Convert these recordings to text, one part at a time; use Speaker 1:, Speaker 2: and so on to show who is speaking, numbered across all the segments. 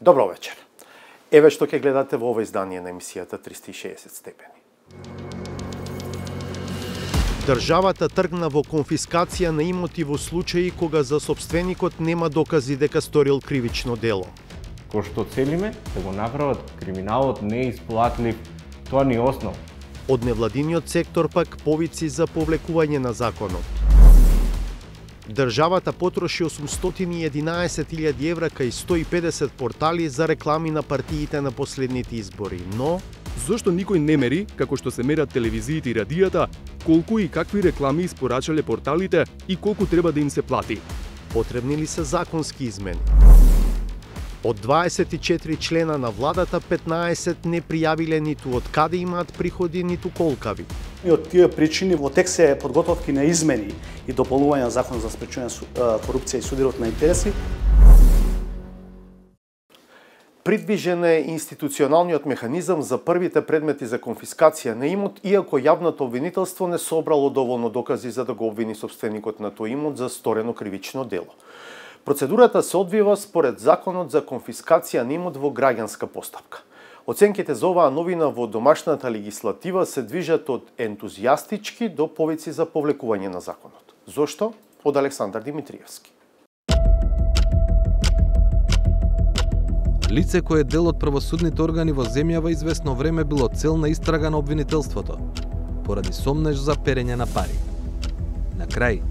Speaker 1: Добро вечер. Еве што ќе гледате во ова издание на емисијата 360 степени. Државата тргна во конфискација на имоти во случаи кога за сопственикот нема докази дека сторил кривично дело.
Speaker 2: Кој што целиме да го направат криминалот неисплатлив, тоа ни е основа.
Speaker 1: Од невладиниот сектор пак повици за повлекување на законот. Државата потроши 811.000 евра кај 150 портали за реклами на партиите на последните избори, но
Speaker 3: зошто никој не мери, како што се мерат телевизиите и радијата, колку и какви реклами испорачале порталите и колку треба да им се плати?
Speaker 1: Потребни ли се законски измени? Од 24 члена на владата, 15 не пријавиле ниту од каде имаат приходи, ниту колкави.
Speaker 4: И од тие причини во текст се подготовки на измени и дополнување на Законот за спречување корупција и судирот на интереси.
Speaker 1: Придвижен е институционалниот механизам за првите предмети за конфискација на имот, иако јавното обвинителство не собрало доволно докази за да го обвини собственикот на тој имот за сторено кривично дело. Процедурата се одвива според Законот за конфискација на имот во граѓанска постапка. Оценките за оваа новина во домашната легислатива се движат од ентузијастички до повици за повлекување на законот. Зошто? Од Александар Димитриевски.
Speaker 5: Лице кое е дел од правосудните органи во земјава известно време било цел на истрага на обвинителството, поради сомнеж за перење на пари. На крај,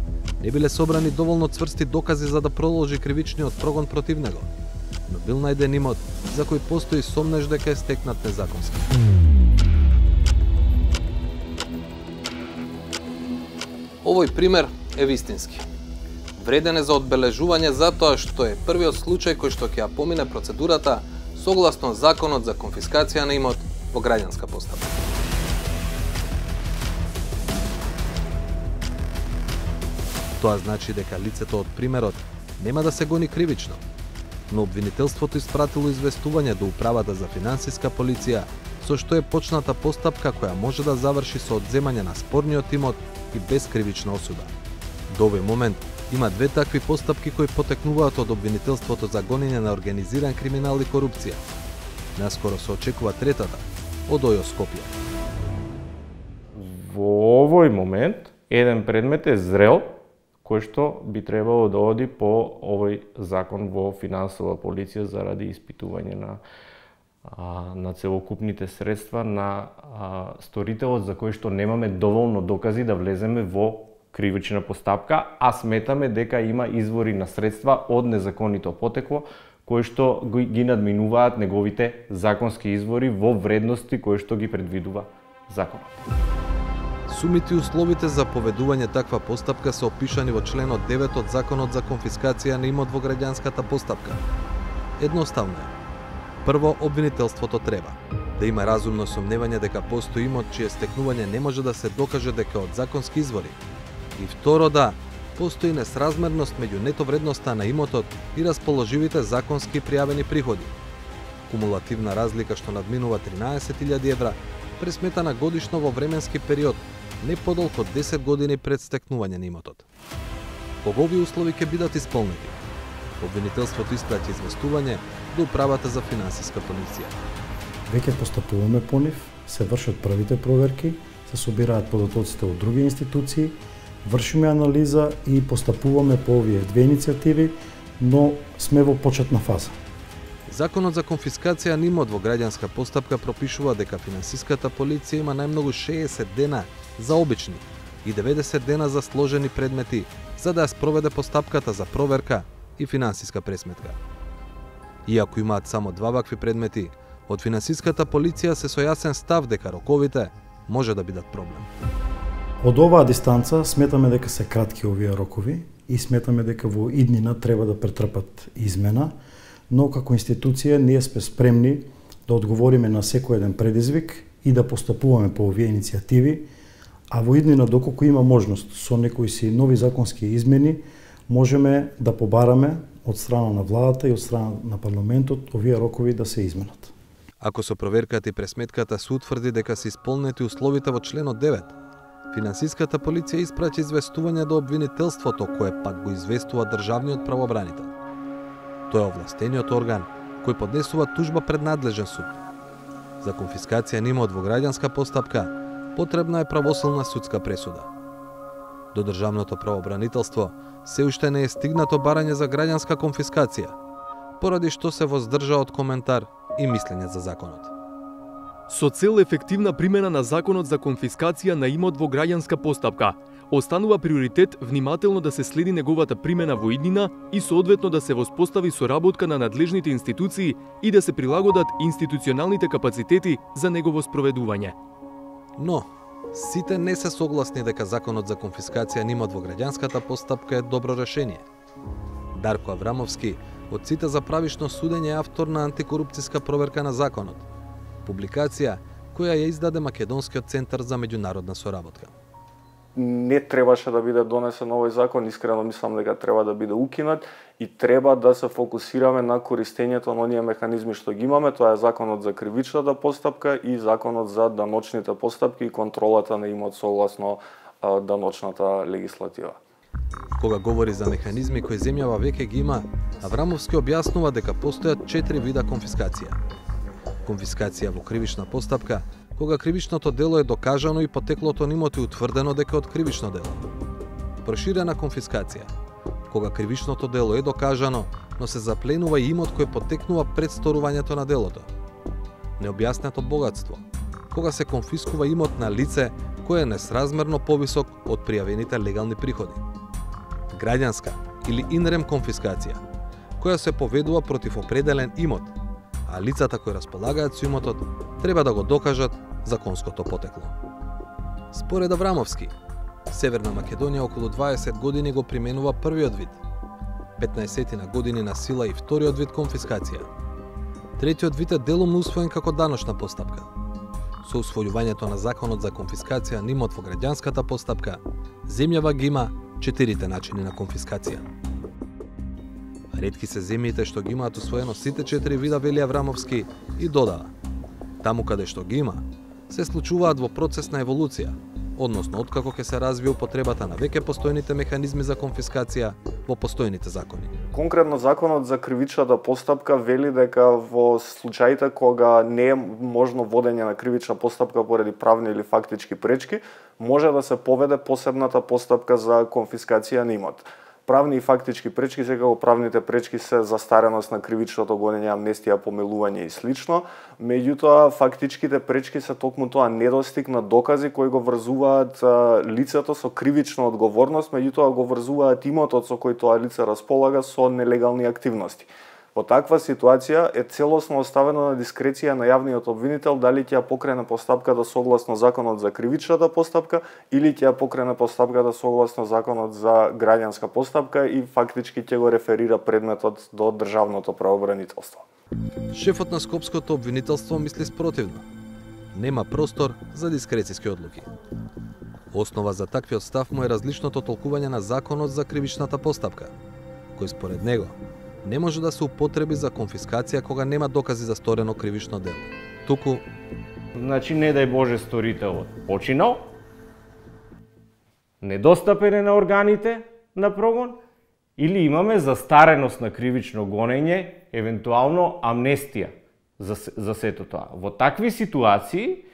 Speaker 5: не биле собрани доволно цврсти докази за да продолжи кривичниот прогон против него, но бил најден имот за кој постои сомнеж дека е стекнат незаконски. Овој пример е вистински. Вреден е за одбележување затоа што е првиот случај кој што ќе ја помине процедурата согласно Законот за конфискација на имот во граѓанска постапка. Тоа значи дека лицето од примерот нема да се гони кривично, но обвинителството испратило известување до Управата за финансиска полиција, со што е почната постапка која може да заврши со одземање на спорниот имот и без кривична осуда. До овој момент има две такви постапки кои потекнуваат од обвинителството за гонење на организиран криминал и корупција. Наскоро се очекува третата, од ОЈО Скопје.
Speaker 2: Во овој момент еден предмет е зрел, кој што би требало да оди по овој закон во финансова полиција заради испитување на целокупните средства на сторителот за кој што немаме доволно докази да влеземе во кривична постапка, а сметаме дека има извори на средства од незаконито потекло кои што ги надминуваат неговите законски извори во вредности кои што ги предвидува законот.
Speaker 5: Сумите и условите за поведување таква постапка се опишани во членот 9 од Законот за конфискација на имот во граѓанската постапка. Едноставно е. Прво, обвинителството треба да има разумно сомневање дека постои имот чие стекнување не може да се докаже дека од законски извори. И второ, да постои несразмерност меѓу нето вредноста на имотот и расположивите законски пријавени приходи. Кумулативна разлика што надминува 13.000 евра, пресметана годишно во временски период не подолго од 10 години пред стекнување на имотот. Кога овие услови ќе бидат исполнети? Обвинителството испрати известување до Управата за финансиска полиција.
Speaker 6: Веќе постапуваме по нив, се вршат првите проверки, се собираат податоците од други институции, вршиме анализа и постапуваме по овие две иницијативи, но сме во почетна фаза.
Speaker 5: Законот за конфискација на имот во граѓанска постапка пропишува дека финансиската полиција има најмногу 60 дена за обични и 90 дена за сложени предмети за да ја спроведе постапката за проверка и финансиска пресметка. Иако имаат само два вакви предмети, од финансиската полиција се со јасен став дека роковите може да бидат проблем.
Speaker 6: Од оваа дистанца сметаме дека се кратки овие рокови и сметаме дека во иднина треба да претрпат измена, но како институција ние сме спремни да одговориме на секој еден предизвик и да постапуваме по овие иницијативи, а во иднина доколку има можност со некои си нови законски измени, можеме да побараме од страна на владата и од страна на парламентот овие рокови да се изменат.
Speaker 5: Ако со проверката и пресметката се утврди дека се исполнети условите во членот 9, финансиската полиција испрати известување до обвинителството, кое пак го известува државниот правобранител. Тој е овластениот орган кој поднесува тужба пред надлежен суд. За конфискација на имот во граѓанска постапка потребна е правосилна судска пресуда. До Државното правобранителство се уште не е стигнато барање за граѓанска конфискација, поради што се воздржа од коментар и мислење за законот.
Speaker 3: Со цел ефективна примена на Законот за конфискација на имот во граѓанска постапка, останува приоритет внимателно да се следи неговата примена во иднина и соодветно да се воспостави соработка на надлежните институции и да се прилагодат институционалните капацитети за негово спроведување.
Speaker 5: Но, сите не се согласни дека Законот за конфискација на имот во граѓанската постапка е добро решение. Дарко Аврамовски, од сите за правишно судење, е автор на антикорупцијска проверка на законот, публикација која ја издаде Македонскиот центар за меѓународна соработка.
Speaker 7: Не требаше да биде донесен овој закон, искрено мислам дека треба да биде укинат и треба да се фокусираме на користењето на оние механизми што ги имаме, тоа е Законот за кривичната постапка и Законот за даночните постапки и контролата на имот согласно даночната легислатива.
Speaker 5: Кога говори за механизми кои земјава веќе ги има, Аврамовски објаснува дека постојат 4 вида конфискација. Конфискација во кривична постапка, кога кривичното дело е докажано и потеклото на имот е утврдено дека од кривично дело. Проширена конфискација, кога кривичното дело е докажано, но се запленува и имот кој потекнува пред сторувањето на делото. Необјаснето богатство, кога се конфискува имот на лице кое е несразмерно повисок од пријавените легални приходи. Граѓанска или инрем конфискација, која се поведува против определен имот, а лицата кои располагаат со имотот треба да го докажат законското потекло. Според Аврамовски, Северна Македонија околу 20 години го применува првиот вид, 15 на години на сила и вториот вид конфискација. Третиот вид е делумно усвоен како даночна постапка. Со усвојувањето на Законот за конфискација на имот во граѓанската постапка, земјава ги има 4 начини на конфискација. Ретки се земјите што ги имаат усвоено сите 4 вида, вели Аврамовски, и додава: таму каде што ги има, се случуваат во процес на еволуција, односно откако ќе се развие употребата на веќе постојните механизми за конфискација во постојните закони.
Speaker 7: Конкретно Законот за кривичната постапка вели дека во случаите кога не е можно водење на кривична постапка поради правни или фактички пречки, може да се поведе посебната постапка за конфискација на имот. Правни и фактички пречки, секако правните пречки се застареност на кривичното гонење, амнестија, помилување и слично. Меѓутоа, фактичките пречки се токму тоа недостиг на докази кои го врзуваат лицето со кривична одговорност, меѓутоа го врзуваат имотот со кој тоа лице располага со нелегални активности. Во таква ситуација е целосно оставено на дискреција на јавниот обвинител дали ќе ја покрене постапката согласно Законот за кривичната постапка или ќе ја покрене постапката согласно Законот за граѓанска постапка и фактички ќе го реферира предметот до Државното правобранителство.
Speaker 5: Шефот на Скопското обвинителство мисли спротивно. Нема простор за дискрецијски одлуки. Основа за таквиот став му е различното толкување на Законот за кривичната постапка, кој според него не може да се употреби за конфискација кога нема докази за сторено кривично дело. Туку,
Speaker 2: значи не дај Боже сторителот починал, недостапен е на органите на прогон, или имаме застареност на кривично гонење, евентуално амнестија за сето тоа. Во такви ситуации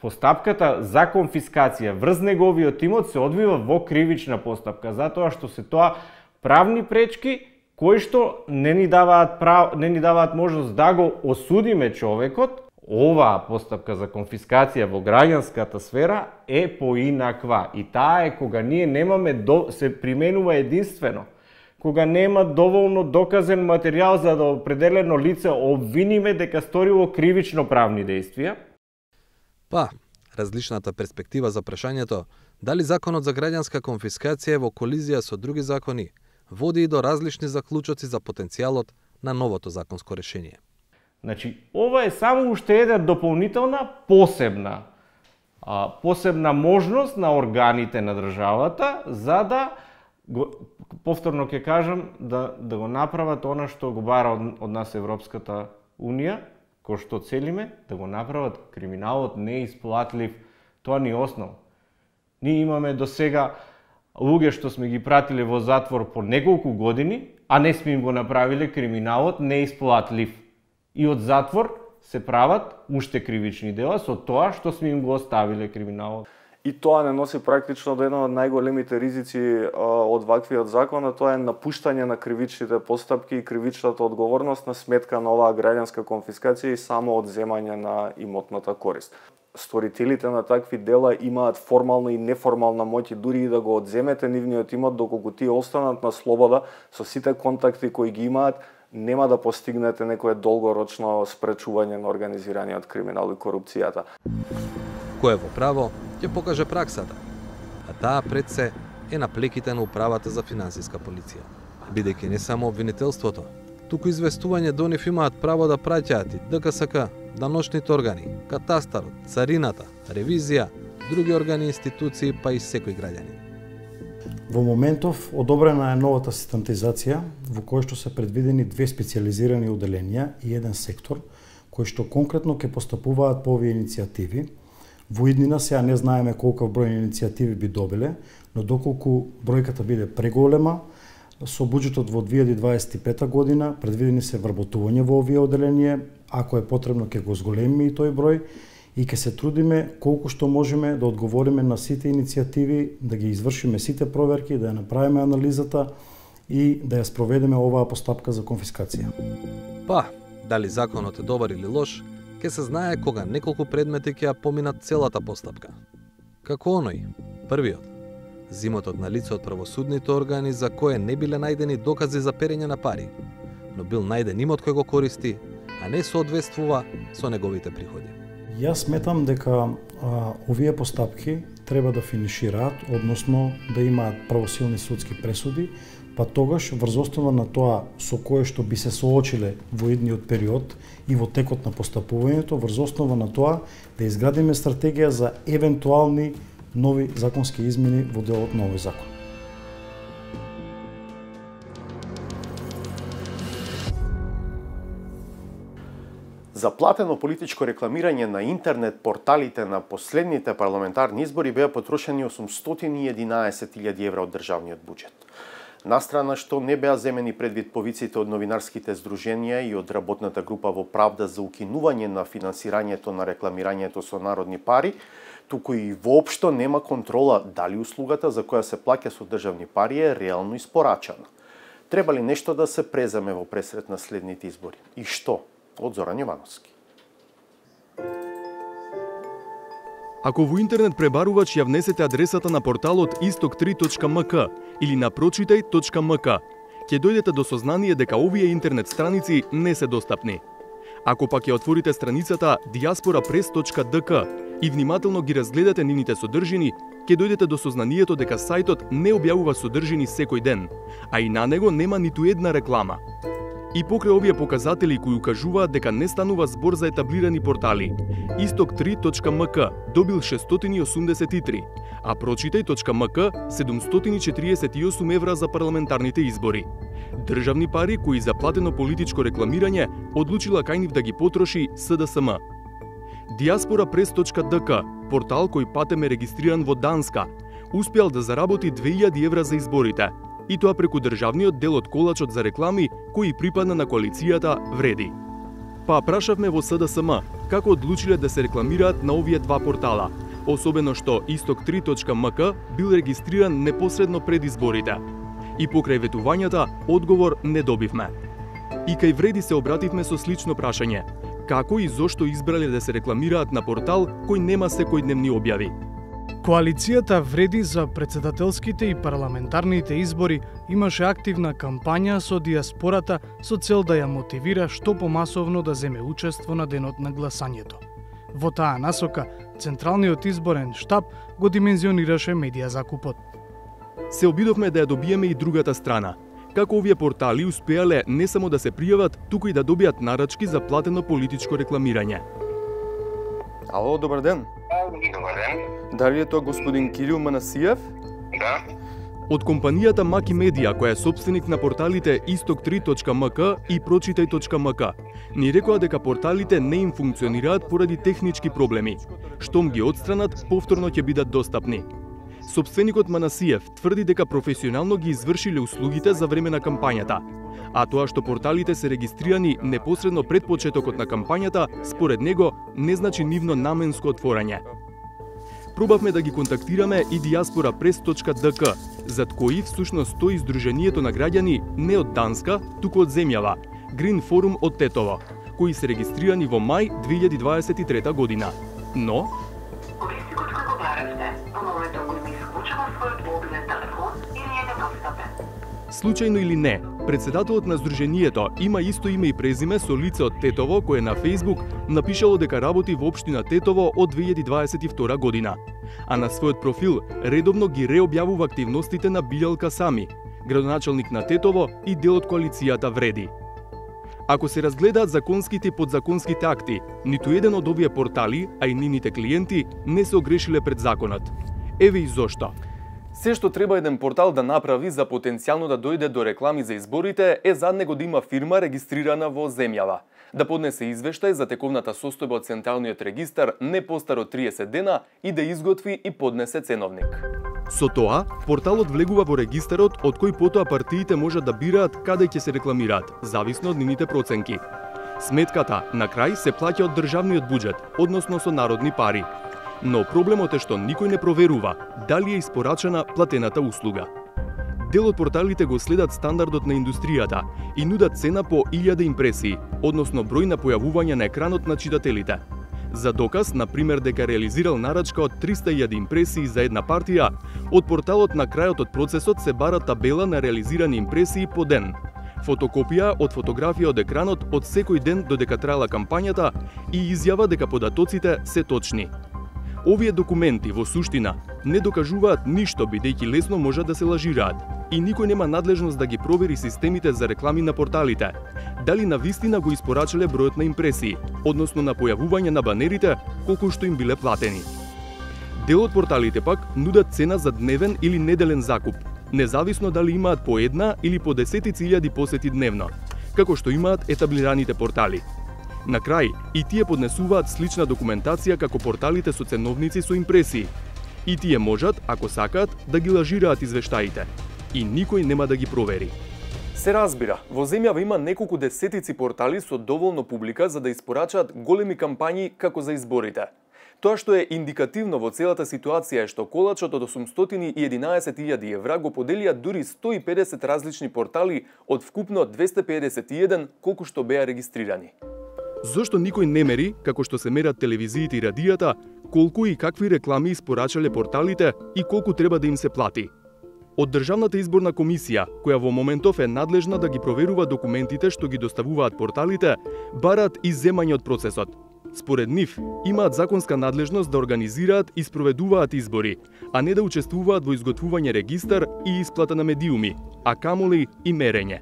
Speaker 2: постапката за конфискација врз неговиот имот се одвива во кривична постапка, затоа што се тоа правни пречки кои што не ни даваат можност да го осудиме човекот. Оваа постапка за конфискација во граѓанската сфера е поинаква и таа е кога ние немаме се применува единствено кога нема доволно доказен материјал за да определено лице обвиниме дека сторило кривично правни дејствија.
Speaker 5: Различната перспектива за прашањето дали Законот за граѓанска конфискација е во колизија со други закони води и до различни заклучоци за потенцијалот на новото законско решение.
Speaker 2: Значи, ова е само уште една дополнителна посебна можност на органите на државата за да повторно ќе кажам да го направат она што го бара од нас Европската Унија, кој што целиме, да го направат криминалот неисплатлив. Тоа ни е основа. Ние имаме до сега луѓе што сме ги пратиле во затвор по неколку години, а не сме им го направиле криминалот неисплатлив. И од затвор се прават уште кривични дела со тоа што сме им го оставиле криминалот.
Speaker 7: И тоа не носи практично до едно од најголемите ризици од ваквиот закон, а тоа е напуштање на кривичните постапки и кривичната одговорност на сметка на оваа граѓанска конфискација и само одземање на имотната корист. Сторителите на такви дела имаат формална и неформална моќ и дури и да го одземете нивниот имот, доколку тие останат на слобода со сите контакти кои ги имаат, нема да постигнете некое долгорочно спречување на организираниот криминал и корупцијата.
Speaker 5: Кој е во право, ќе покаже праксата, а таа пред се е на плеките на управата за финансиска полиција. Бидејќи не само обвинителството, туку известување до нив имаат право да праќаат и ДКСК, даночните органи, катастарот, царината, ревизија, други органи и институции, па и секој граѓанин.
Speaker 6: Во моментов одобрена е новата систематизација во која што се предвидени 2 специјализирани оделенија и 1 сектор кои што конкретно ќе постапуваат по овие иницијативи. Во иднина сега не знаеме колков број иницијативи би добиле, но доколку бројката биде преголема, со буџетот во 2025 година предвидени се вработување во овие оделенија, ако е потребно ќе го зголемиме и тој број и ќе се трудиме колку што можеме да одговориме на сите иницијативи, да ги извршиме сите проверки, да ја направиме анализата и да ја спроведеме оваа постапка за конфискација.
Speaker 5: Па, дали законот е добар или лош, ќе се знае кога неколку предмети ќе ја поминат целата постапка. Како оној, првиот, зимотот на лице од правосудните органи за кое не биле најдени докази за перење на пари, но бил најден имот кој го користи, а не соодветствува со неговите приходи.
Speaker 6: Јас сметам дека овие постапки треба да финишираат, односно да имаат правосилни судски пресуди, па тогаш врз основа на тоа со кое што би се соочиле во идниот период и во текот на постапувањето, врз основа на тоа да изградиме стратегија за евентуални нови законски измени во делот на овој закон.
Speaker 1: За платено политичко рекламирање на интернет порталите на последните парламентарни избори беа потрошени 811.000 евра од државниот буџет. Настрана што не беа земени предвид повиците од новинарските здруженија и од работната група во Правда за укинување на финансирањето на рекламирањето со народни пари, туку и воопшто нема контрола дали услугата за која се плаќа со државни пари е реално испорачана. Треба ли нешто да се преземе во пресрет на следните избори? И што? Од Зоран Јовановски.
Speaker 3: Ако во интернет пребарувач ја внесете адресата на порталот istok3.mk или на прочитај.mk, ќе дојдете до сознание дека овие интернет страници не се достапни. Ако пак ја отворите страницата diasporapress.dk и внимателно ги разгледате нивните содржини, ќе дојдете до сознанието дека сајтот не објавува содржини секој ден, а и на него нема ниту една реклама. И покрај овие показатели кои укажуваат дека не станува збор за етаблирани портали, istok3.mk добил 683, а прочитај.mk 748 евра за парламентарните избори. Државни пари кои за платено политичко рекламирање одлучила кај нив да ги потроши СДСМ. Diasporapress.dk, портал кој патем е регистриран во Данска, успеал да заработи 2000 евра за изборите, и тоа преку државниот дел од колачот за реклами кој припадна на коалицијата Вреди. Па прашавме во СДСМ како одлучиле да се рекламираат на овие два портала, особено што istok3.mk бил регистриран непосредно пред изборите. И покрај ветувањата, одговор не добивме. И кај Вреди се обративме со слично прашање: како и зошто избрале да се рекламираат на портал кој нема секојдневни објави?
Speaker 8: Коалицијата Вреди за претседателските и парламентарните избори имаше активна кампања со диаспората со цел да ја мотивира што помасовно да земе учество на денот на гласањето. Во таа насока, Централниот изборен штаб го димензионираше медија закупот.
Speaker 3: Се обидовме да ја добиеме и другата страна. Како овие портали успеале не само да се пријават, туку и да добијат нарачки за платено политичко рекламирање.
Speaker 9: Ало, добар ден.
Speaker 10: Добар ден.
Speaker 9: Дали е тоа господин Кирил Манасиев?
Speaker 10: Да.
Speaker 3: Од компанијата Маки Медија, која е собственик на порталите istok3.mk и прочитај.mk, ни рекоа дека порталите не им функционираат поради технички проблеми. Штом ги отстранат, повторно ќе бидат достапни. Собственикот Манасиев тврди дека професионално ги извршиле услугите за време на кампањата, а тоа што порталите се регистрирани непосредно пред почетокот на кампањата, според него не значи нивно наменско отворање. Пробавме да ги контактираме и diasporapress.dk, зад кои всушност стои Сдруженијето на граѓани не од Данска, туку од земјава, Green Forum од Тетово, кои се регистрирани во мај 2023 година. Но
Speaker 11: користикот како баравте, во моментот кој ми исклучува својот мобилен телефон или е недостапен.
Speaker 3: Случајно или не, председателот на Сдруженијето има исто име и презиме со лице од Тетово кое на Facebook напишало дека работи во општина Тетово од 2022 година, а на својот профил редовно ги реобјавува активностите на Билјалка Сами, градоначалник на Тетово и дел од коалицијата Вреди. Ако се разгледаат законските и подзаконските акти, ниту еден од овие портали, а и нивните клиенти, не се огрешиле пред законот. Еве и зошто.
Speaker 9: Се што треба еден портал да направи за потенцијално да дојде до реклами за изборите е зад него да има фирма регистрирана во земјава, да поднесе извештај за тековната состојба од Централниот регистар не постар од 30 дена и да изготви и поднесе ценовник.
Speaker 3: Со тоа, порталот влегува во регистарот од кој потоа партиите можат да бираат каде ќе се рекламираат, зависно од нивните проценки. Сметката на крај се плаќа од државниот буџет, односно со народни пари. Но проблемот е што никој не проверува дали е испорачена платената услуга. Дел од порталите го следат стандардот на индустријата и нудат цена по 1000 импресии, односно број на појавување на екранот на читателите. За доказ, на пример, дека реализирал нарачка од 300.000 импресии за една партија, од порталот на крајот од процесот се бара табела на реализирани импресии по ден, фотокопија од фотографија од екранот од секој ден додека траела кампањата и изјава дека податоците се точни. Овие документи во суштина не докажуваат ништо бидејќи лесно можат да се лажираат и никој нема надлежност да ги провери системите за реклами на порталите, дали навистина го испорачале бројот на импресии, односно на појавување на банерите колку што им биле платени. Дел од порталите пак нудат цена за дневен или неделен закуп, независно дали имаат по една или по 10.000 посети дневно, како што имаат етаблираните портали. На крај, и тие поднесуваат слична документација како порталите со ценовници со импресии. И тие можат, ако сакаат, да ги лажираат извештаите. И никој нема да ги провери.
Speaker 9: Се разбира, во земјава има неколку десетици портали со доволно публика за да испорачаат големи кампањи како за изборите. Тоа што е индикативно во целата ситуација е што колачот од 811.000 евра го поделија дури 150 различни портали од вкупно 251 колку што беа регистрирани.
Speaker 3: Зошто никој не мери, како што се мерат телевизиите и радијата, колку и какви реклами испорачале порталите и колку треба да им се плати? Од Државната изборна комисија, која во моментов е надлежна да ги проверува документите што ги доставуваат порталите, бараат изземање од процесот. Според нив, имаат законска надлежност да организираат и спроведуваат избори, а не да учествуваат во изготвување регистар и исплата на медиуми, а камоли и мерење.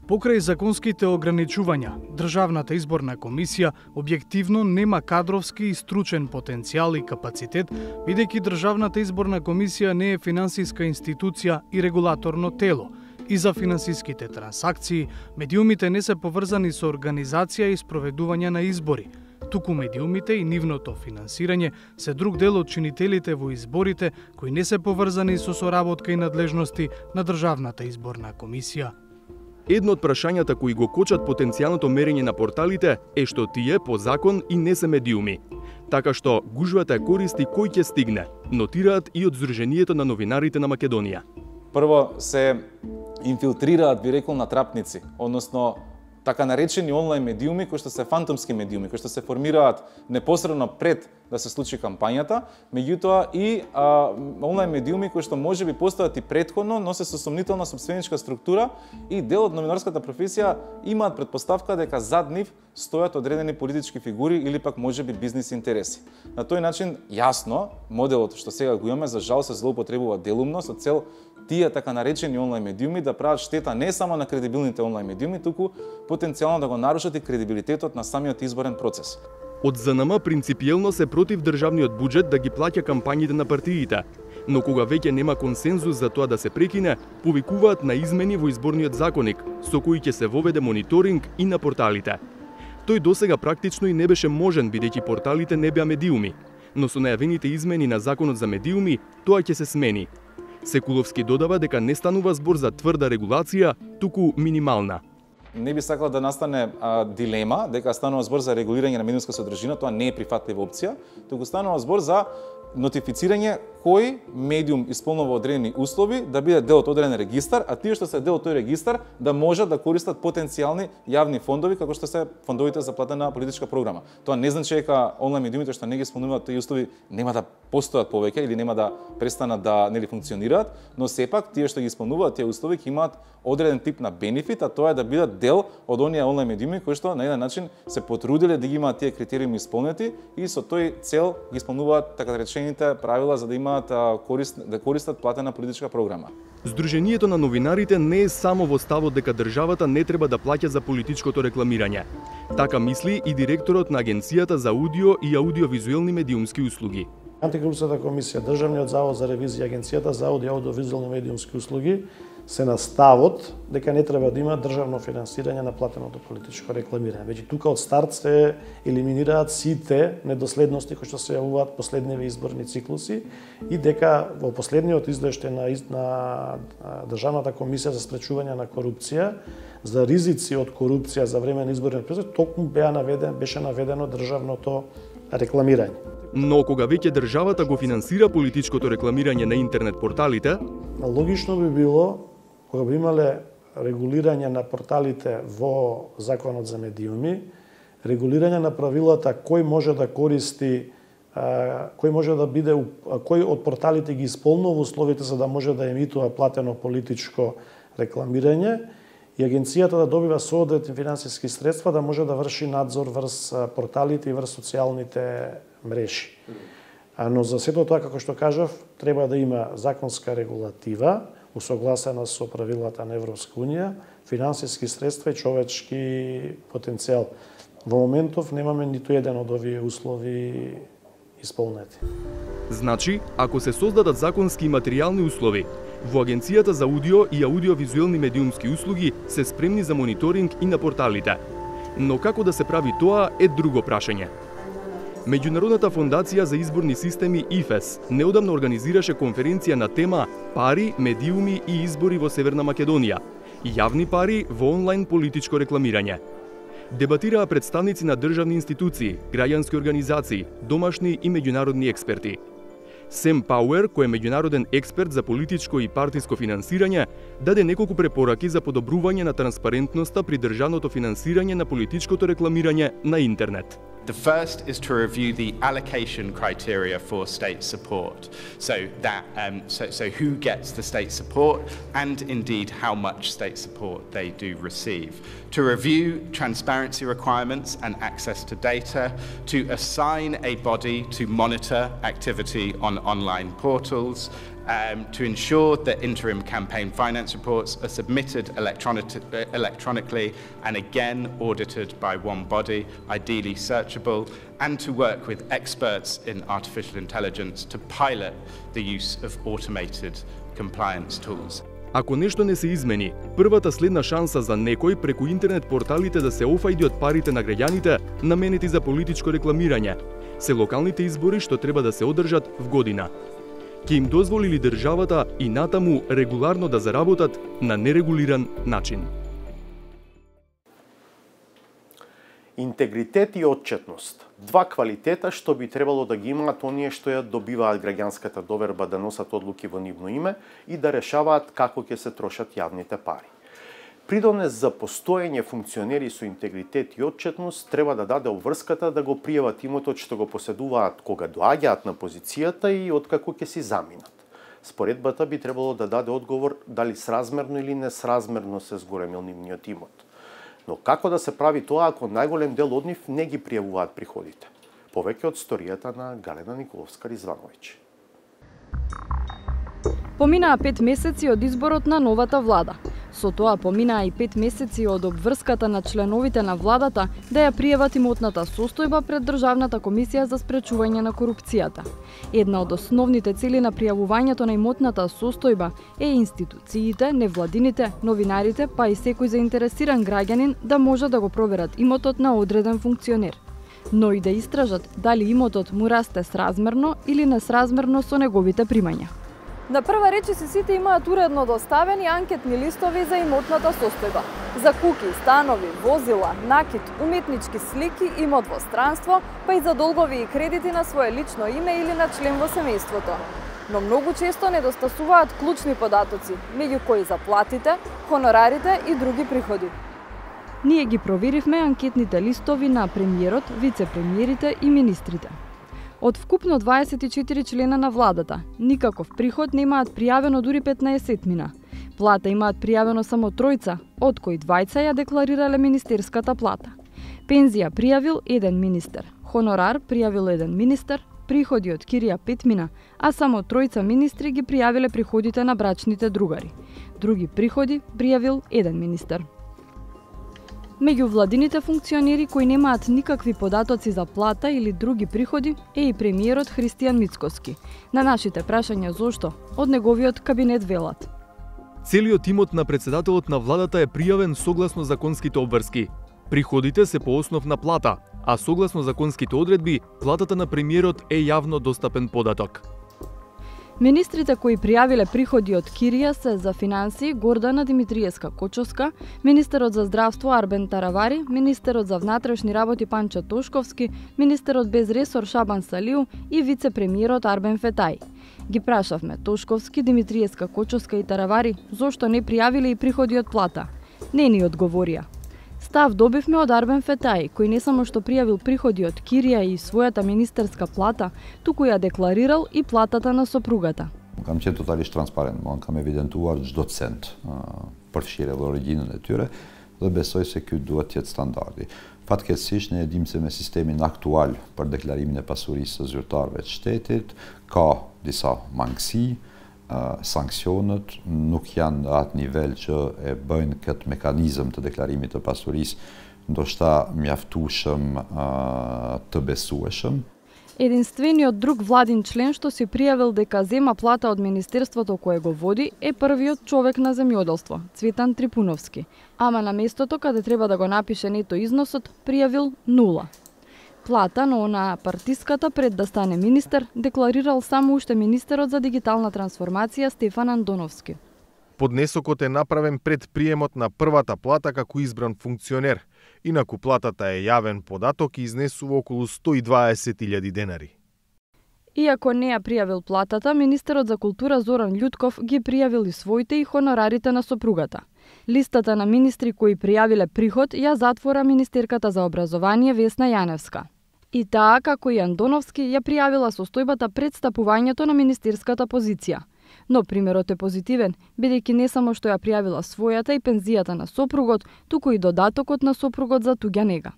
Speaker 8: Покрај законските ограничувања, Државната изборна комисија објективно нема кадровски и стручен потенцијал и капацитет, бидејќи Државната изборна комисија не е финансиска институција и регулаторно тело. И за финансиските трансакции, медиумите не се поврзани со организација и спроведување на избори. Туку медиумите и нивното финансирање се друг дел од чинителите во изборите кои не се поврзани со соработка и надлежности на Државната изборна комисија.
Speaker 3: Едно од прашањата кои го кочат потенцијалното мерење на порталите е што тие по закон и не се медиуми. Така што гужвата е користи кој ќе стигне, нотираат и од Сдруженијето на новинарите на Македонија.
Speaker 12: Прво се инфилтрираат, би рекол, натрапници, односно така наречени онлайн медиуми кои што се фантомски медиуми, кои што се формираат непосредно пред да се случи кампањата, меѓутоа и онлайн медиуми кои што можеби постојат и претходно, но се со сомнителна сопственичка структура и дел од новинарската професија имаат претпоставка дека зад нив стојат одредени политички фигури или пак можеби бизнис интереси. На тој начин, јасно, моделот што сега го имаме, за жал се злоупотребува делумно со цел тие така наречени онлайн медиуми да прават штета не само на кредибилните онлайн медиуми, туку потенцијално да го нарушат и кредибилитетот на самиот изборен процес.
Speaker 3: Од ЗНМ принципиелно се против државниот буџет да ги плаќа кампањите на партиите, но кога веќе нема консензус за тоа да се прекине, повикуваат на измени во изборниот законник, со кои ќе се воведе мониторинг и на порталите. Тој досега практично и не беше можен бидејќи порталите не беа медиуми, но со најавените измени на законот за медиуми, тоа ќе се смени. Секуловски додава дека не станува збор за тврда регулација, туку минимална.
Speaker 12: Не би сакал да настане дилема дека станува збор за регулирање на медиумска содржина, тоа не е прифатлива опција, туку станува збор за нотифицирање кој медиум исполнува одредени услови да биде дел од одреден регистар, а тие што се дел од тој регистар да можат да користат потенцијални јавни фондови како што се фондовите за платена политичка програма. Тоа не значи дека онлайн медиумите што не ги исполнуваат тој услови нема да постојат повеќе или нема да престанат да функционираат, но сепак тие што ги исполнуваат тие услови ќе имаат одреден тип на бенефит, а тоа е да бидат дел од оние онлайн медиуми кои што на еден начин се потрудиле да ги имаат тие критериуми исполнети и со тој цел ги исполнуваат така речените правила за да имаат да користат платена политичка програма.
Speaker 3: Сдруженијето на новинарите не е само во ставот дека државата не треба да плаќа за политичкото рекламирање. Така мисли и директорот на Агенцијата за аудио и аудиовизуелни медиумски услуги.
Speaker 13: Антикорупцијата комисија, Државниот завод за ревизија, Агенцијата за аудио и аудиовизуелни медиумски услуги се на ставот дека не треба да има државно финансирање на платеното политичко рекламирање. Веќе тука од старт се елиминираат сите недоследности кои што се јавуваат последниве изборни циклуси и дека во последниот извештај на Државната комисија за спречување на корупција за ризици од корупција за време на изборниот процес токму беше наведено државното рекламирање.
Speaker 3: Но кога веќе државата го финансира политичкото рекламирање на интернет порталите,
Speaker 13: логично би било кога би имале регулирање на порталите во Законот за медиуми, регулирање на правилата кој може да користи, кој од порталите ги исполнува условите за да може да емитува платено политичко рекламирање и агенцијата да добива соодветни финансиски средства да може да врши надзор врз порталите и врз социјалните мрежи. Но за сето тоа, како што кажав, треба да има законска регулатива, усогласена со правилата на Европска унија, финансиски средства и човечки потенцијал. Во моментов немаме ниту еден од овие услови исполнети.
Speaker 3: Значи, ако се создадат законски и материјални услови, во Агенцијата за аудио и аудиовизуелни медиумски услуги се спремни за мониторинг и на порталите. Но како да се прави тоа е друго прашање. Меѓународната фондација за изборни системи ИФЕС неодамно организираше конференција на тема Пари, медиуми и избори во Северна Македонија. Јавни пари во онлайн политичко рекламирање. Дебатираа представници на државни институции, граѓански организации, домашни и меѓународни експерти. Сем Пауер, кој е меѓународен експерт за политичко и партиско финансирање, даде неколку препораки за подобрување на транспарентноста при државното финансирање на политичкото рекламирање на интернет.
Speaker 14: The first is to review the allocation criteria for state support. So who gets the state support and indeed how much state support they do receive. To review transparency requirements and access to data, to assign a body to monitor activity on online portals, to ensure that interim campaign finance reports are submitted electronically and again audited by one body, ideally searchable, and to work with experts in artificial intelligence to pilot the use of automated compliance tools.
Speaker 3: Ако нешто не се измени, првата следна шанса за некој преку интернет порталите да се офајди од парите на граѓаните наменети за политичко рекламирање, се локалните избори што треба да се одржат в година. Ќе им дозволи ли државата и натаму регуларно да заработат на нерегулиран начин?
Speaker 1: Интегритет и отчетност. Два квалитета што би требало да ги имаат оние што ја добиваат граѓанската доверба да носат одлуки во нивно име и да решаваат како ќе се трошат јавните пари. Придонес за постоење функционери со интегритет и отчетност треба да даде обврската да го пријават имотот што го поседуваат кога доаѓаат на позицијата и откако ќе си заминат. Споредбата би требало да даде одговор дали сразмерно или несразмерно се зголемил нивниот имот. Но како да се прави тоа ако најголем дел од нив не ги пријавуваат приходите? Повеќе од сторијата на Галена Николовска-Ризвановиќ.
Speaker 15: Поминаа 5 месеци од изборот на новата влада. Со тоа поминаа и 5 месеци од обврската на членовите на владата да ја пријават имотната состојба пред Државната комисија за спречување на корупцијата. Една од основните цели на пријавувањето на имотната состојба е институциите, невладините, новинарите, па и секој заинтересиран граѓанин да може да го проверат имотот на одреден функционер, но и да истражат дали имотот му расте сразмерно или несразмерно со неговите примања. На прва речиси сите имаат уредно доставени анкетни листови за имотната состојба. За куки, станови, возила, накид, уметнички слики, имот во странство, па и за долгови и кредити на свое лично име или на член во семејството. Но многу често недостасуваат клучни податоци, меѓу кои заплатите, хонорарите и други приходи. Ние ги проверивме анкетните листови на премиерот, вице-премиерите и министрите. Од вкупно 24 члена на владата, никаков приход немаат пријавено дури 15-мина. Плата имаат пријавено само 3, од кои 2 ја декларирале министерската плата. Пензија пријавил 1 министер, хонорар пријавил 1 министер, приходи од кирија 5-мина, а само 3 министри ги пријавиле приходите на брачните другари. Други приходи пријавил 1 министер. Меѓу владините функционери кои немаат никакви податоци за плата или други приходи е и премиерот Христијан Мицкоски. На нашите прашања зошто, од неговиот кабинет велат:
Speaker 3: Целиот имот на председателот на владата е пријавен согласно законските обврски. Приходите се по основ на плата, а согласно законските одредби, платата на премиерот е јавно достапен податок.
Speaker 15: Министрите кои пријавиле приходи од кирија се за финансии Гордана Димитриевска-Кочовска, министерот за здравство Арбен Таравари, министерот за внатрешни работи Панчо Тошковски, министерот без ресор Шабан Салиу и вице-премиерот Арбен Фетај. Ги прашавме Тошковски, Димитриевска-Кочовска и Таравари зошто не пријавиле и приходи од плата. Не ни одговорија. Став добивме од Арбен Фетај, кој не само што пријавил приходи од кирија и својата министерска плата, туку ја декларирал и платата на сопругата.
Speaker 16: Kam qenë totalisht transparent, më kam evidentuar çdo cent përfshirë dhe origjinën e tyre dhe besoj se ky duhet të jetë standardi. Fatkeqësisht ne e dimë se me sistemin aktual për deklarimin e pasurisë së zyrtarëve të shtetit ka disa mangësi. Sankcionet nuk janë në atë nivel që e bëjnë këtë mekanizëm të deklarimit të pasurisë ndoshta mjaftueshëm të besueshëm.
Speaker 15: Единствениот друг владин член што си пријавил дека зема плата од министерството кое го води е првиот човек на земјоделство, Цветан Трипуновски. Ама на местото каде треба да го напише нето износот, пријавил 0. Плата, но на партиската пред да стане министер, декларирал само уште министерот за дигитална трансформација Стефан Андоновски.
Speaker 17: Поднесокот е направен пред приемот на првата плата како избран функционер. Инаку платата е јавен податок и изнесува околу 120.000 денари.
Speaker 15: Иако не ја пријавил платата, министерот за култура Зоран Љутков ги пријавил и своите и хонорарите на сопругата. Листата на министри кои пријавиле приход ја затвора министерката за образование Весна Јаневска. И таа, како и Андоновски, ја пријавила состојбата пред стапувањето на министерската позиција. Но примерот е позитивен, бидејќи не само што ја пријавила својата и пензијата на сопругот, туку и додатокот на сопругот за туѓа нега.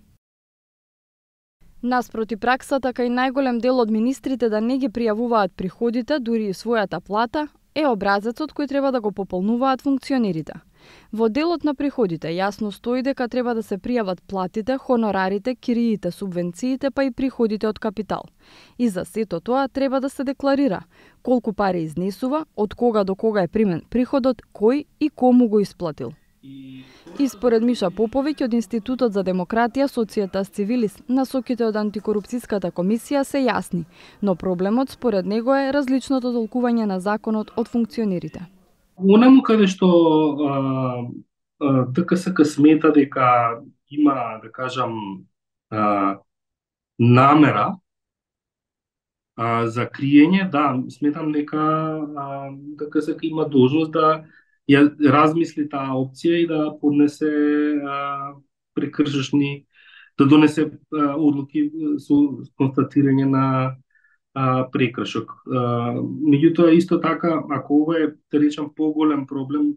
Speaker 15: Наспроти праксата кај најголем дел од министрите да не ги пријавуваат приходите, дури и својата плата, е образецот кој треба да го пополнуваат функционерите. Во делот на приходите јасно стои дека треба да се пријават платите, хонорарите, кириите, субвенциите, па и приходите од капитал. И за сето тоа треба да се декларира колку пари изнесува, од кога до кога е примен приходот, кој и кому го исплатил. И според Миша Поповиќ од Институтот за демократија, Societas Civilis, насоките од антикорупцијската комисија се јасни, но проблемот според него е различното толкување на законот од функционерите.
Speaker 18: Онаму каде што ДКСК смета дека има, да кажам, намера за криење, да, сметам дека ДКСК има должност да ја размисли таа опција и да поднесе прекршечни, да донесе одлуки со констатирање на прекршок. Меѓутоа, исто така, ако ова е, да речам, поголем проблем,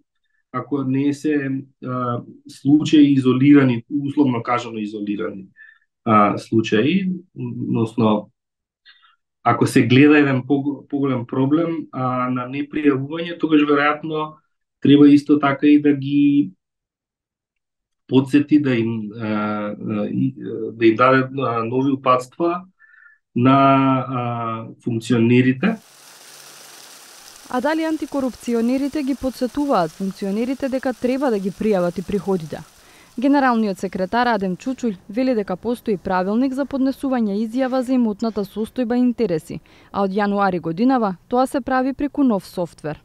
Speaker 18: ако не се случаи изолирани, условно кажано изолирани случаи, односно, ако се гледа еден поголем проблем на непријавување, тогаш веројатно треба исто така и да ги подсети да им даде нови упатства на функционерите.
Speaker 15: А дали антикорупционерите ги подсетуваат функционерите дека треба да ги пријават и приходите? Генералниот секретар Адем Чучуль вели дека постои правилник за поднесување изјава за имотната состојба и интереси, а од јануари годинава тоа се прави преку нов софтвер.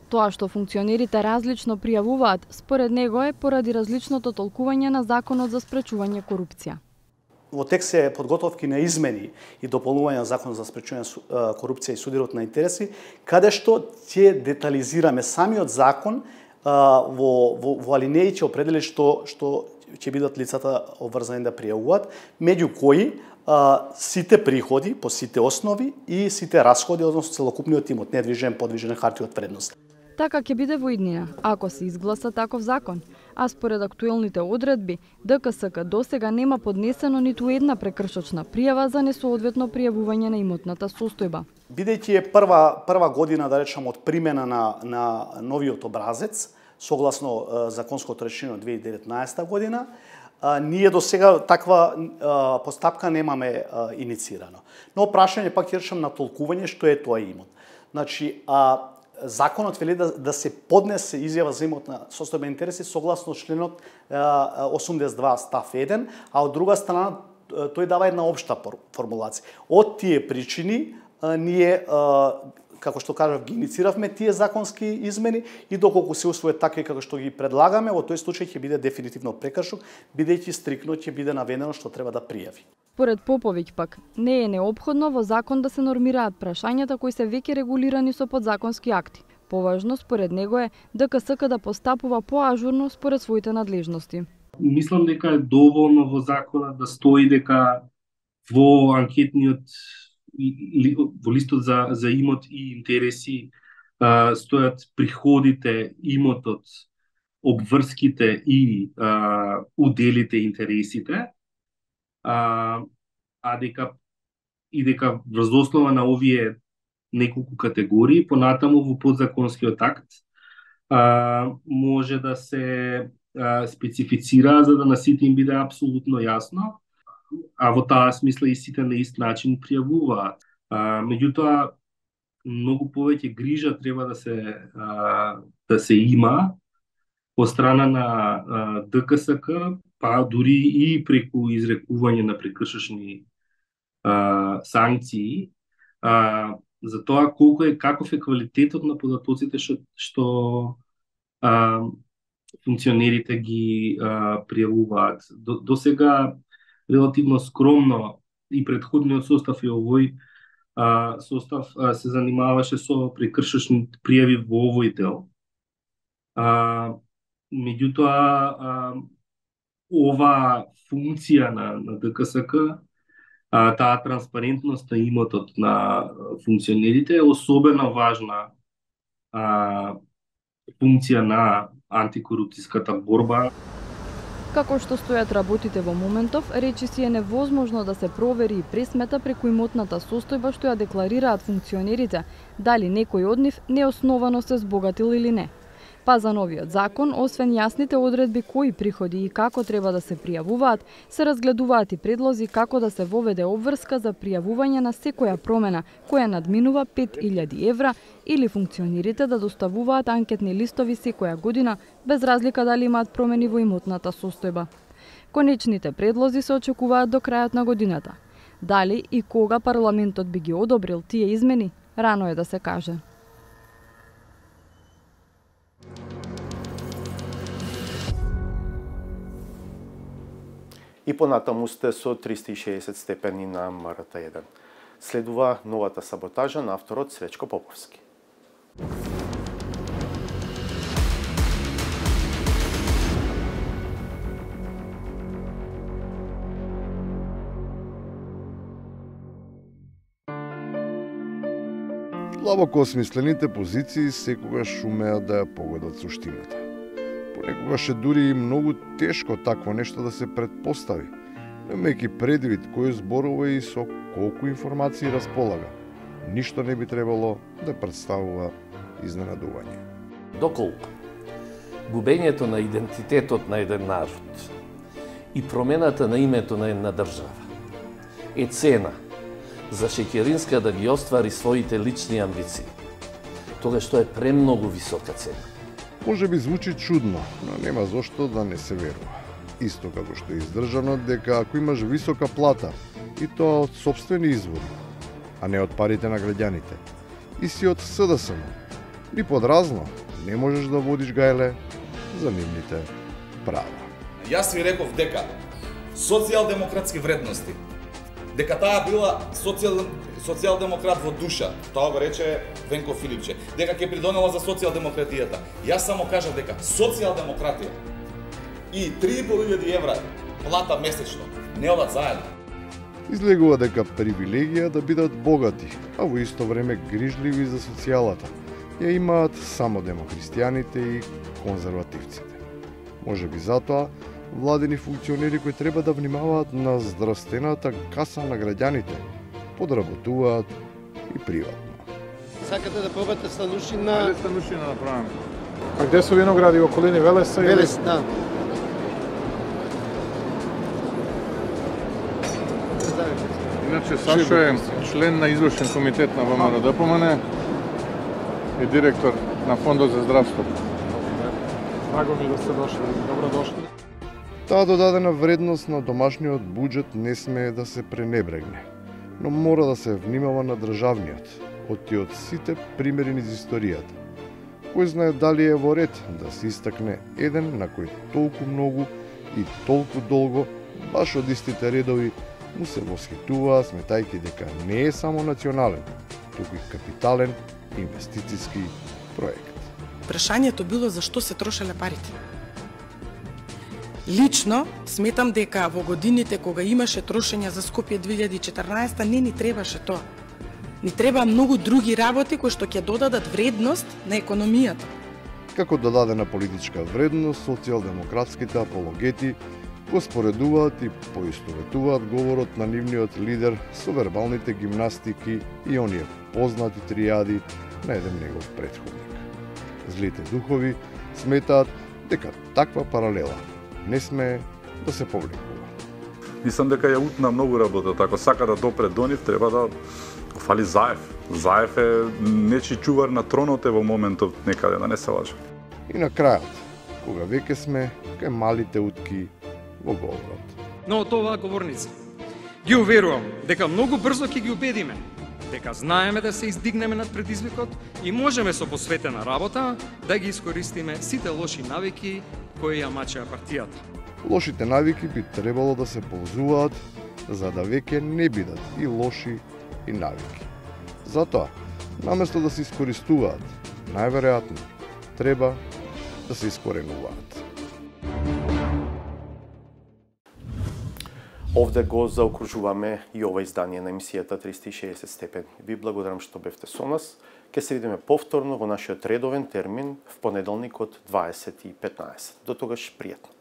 Speaker 15: Тоа што функционерите различно пријавуваат, според него е поради различното толкување на Законот за спречување корупција.
Speaker 4: Во текст се подготовки на измени и дополнување на Законот за спречување корупција и судирот на интереси, каде што ќе детализираме самиот закон во алинеи ќе определи што ќе бидат лицата обврзани да пријавуваат, меѓу кои сите приходи по сите основи и сите расходи, односно целокупниот имот, недвижен, подвижен, харти од вредност.
Speaker 15: Така ќе биде во иднина, ако се изгласа таков закон, а според актуелните одредби, ДКСК досега нема поднесено ниту една прекршочна пријава за несоодветно пријавување на имотната состојба.
Speaker 4: Бидејќи е прва година, да речам, од примена на новиот образец, согласно законското решение од 2019 година, ние до сега таква постапка немаме иницирано. Но прашање пак ќе речам на толкување што е тоа имот. Значи, законот вели да се поднесе изјава за имотна состојба и интереси согласно членот 82 став 1, а од друга страна тој дава една општа формулација. Од тие причини ние, како што кажав, ги иницииравме тие законски измени и доколку се усвојат така како што ги предлагаме, во тој случај ќе биде дефинитивно прекршок, бидејќи стрикно ќе биде наведено што треба да пријави.
Speaker 15: Според Поповиќ пак, не е неопходно во закон да се нормираат прашањата кои се веќе регулирани со подзаконски акти. Поважно според него е ДКСК да постапува поажурно според своите надлежности.
Speaker 18: Мислам дека е доволно во законот да стои дека во анкетниот во листот за имот и интереси стојат приходите, имотот, обврските и уделите, интересите, дека врз основа на овие неколку категории, понатаму во подзаконскиот акт може да се специфицира за да на сите им биде апсолутно јасно, а во таа смисла и сите на ист начин пријавуваат. Меѓутоа, многу повеќе грижа треба да се има по страна на ДКСК, па дури и преку изрекување на прекршочни санкции, за тоа каков е квалитетот на податоците што функционерите ги пријавуваат. До сега релативно скромно и предходниот состав и овој состав се занимаваше со прекршочни пријави во овој дел. Меѓутоа, ова функција на ДКСК, таа транспарентност на имотот на функционерите е особено важна функција на антикорупцијската борба.
Speaker 15: Како што стојат работите во моментов, речиси е невозможно да се провери и пресмета преку имотната состојба што ја декларираат функционерите, дали некој од нив неосновано се збогатил или не. Па за новиот закон, освен јасните одредби кои приходи и како треба да се пријавуваат, се разгледуваат и предлози како да се воведе обврска за пријавување на секоја промена која надминува 5.000 евра или функционерите да доставуваат анкетни листови секоја година без разлика дали имаат промени во имотната состојба. Конечните предлози се очекуваат до крајот на годината. Дали и кога парламентот би ги одобрил тие измени, рано е да се каже.
Speaker 1: И понатаму сте со 360 степени на МРТ1. Следува новата саботажа на авторот Свечко Поповски.
Speaker 17: Длабоко осмислените позиции секогаш умеат да ја погодат суштината. Понекогаш е дури и многу тешко такво нешто да се предпостави, немајќи предвид кој зборува и со колку информации располага. Ништо не би требало да представува изненадување.
Speaker 19: Доколку губењето на идентитетот на еден народ и промената на името на една држава е цена за Шеќеринска да ги оствари своите лични амбиции, тогаш тоа е премногу висока цена.
Speaker 17: Може би звучи чудно, но нема зошто да не се верува. Исто како што е издржано дека ако имаш висока плата, и тоа од сопствени извори, а не од парите на граѓаните, и си од СДСМ, ни подразно не можеш да водиш гајле за нивните права.
Speaker 20: Јас ви реков дека социјалдемократски вредности, дека таа била социјалдемократ во душа, тоа го рече Венко Филипче, дека ќе придонела за социјалдемократијата. Јас само кажав дека социјалдемократија и 3.500 евра плата месечно не одат заедно.
Speaker 17: Излегува дека привилегија да бидат богати, а во исто време грижливи за социјалата ја имаат само демокристијаните и конзервативците. Можеби затоа владени функционери кои треба да внимаваат на здравствената каса на граѓаните подработуваат и приватно.
Speaker 21: Сакате да пробате станушина?
Speaker 22: Велес станушина направаме. А где се виногради, околини Велеса?
Speaker 21: Велес, да.
Speaker 22: Иначе Сашо е член на извршен комитет на ВМРО ДПМН и директор на Фондот за здравство. Драго ми да сте дошли, добро дошли.
Speaker 17: Таа додадена вредност на домашниот буџет не смее да се пренебрегне, но мора да се внимава на државниот, и од сите примери низ историјата. Кој знае дали е во ред да се истакне еден на кој толку многу и толку долго, баш од истите редови, му се восхитуваа сметајќи дека не е само национален, туку и капитален инвестициски проект.
Speaker 23: Прашањето било за што се трошеле парите. Лично сметам дека во годините кога имаше трошење за Скопје 2014 не ни требаше тоа. Ни треба многу други работи кои што ќе додадат вредност на економијата.
Speaker 17: Како додадена политичка вредност, социјалдемократските апологети го споредуваат и поистоветуваат говорот на нивниот лидер со вербалните гимнастики и оние познати триади на еден негов претходник. Злите духови сметаат дека таква паралела не смее да се повлекува.
Speaker 24: Мислам дека ја утна многу работа, ако сака да допре до нив, треба да фали Заев. Заев е нечи чувар на тронот е во моментов некаде, да не се лажа.
Speaker 17: И на крајот, кога веќе сме кај малите утки во говорот.
Speaker 25: Но од оваа говорница ги уверувам дека многу брзо ќе ги убедиме дека знаеме да се издигнеме над предизвикот и можеме со посветена работа да ги искористиме сите лоши навики кои ја мачеа партијата.
Speaker 17: Лошите навики би требало да се ползуваат за да веќе не бидат и лоши и навики. Затоа, наместо да се искористуваат, најверојатно треба да се искоренуваат.
Speaker 1: Овде го заокружуваме и ова издание на емисијата 360 степени. Ви благодарам што бевте со нас. Ке се видиме повторно во нашиот редовен термин в понеделник од 20:15. До тогаш пријатно.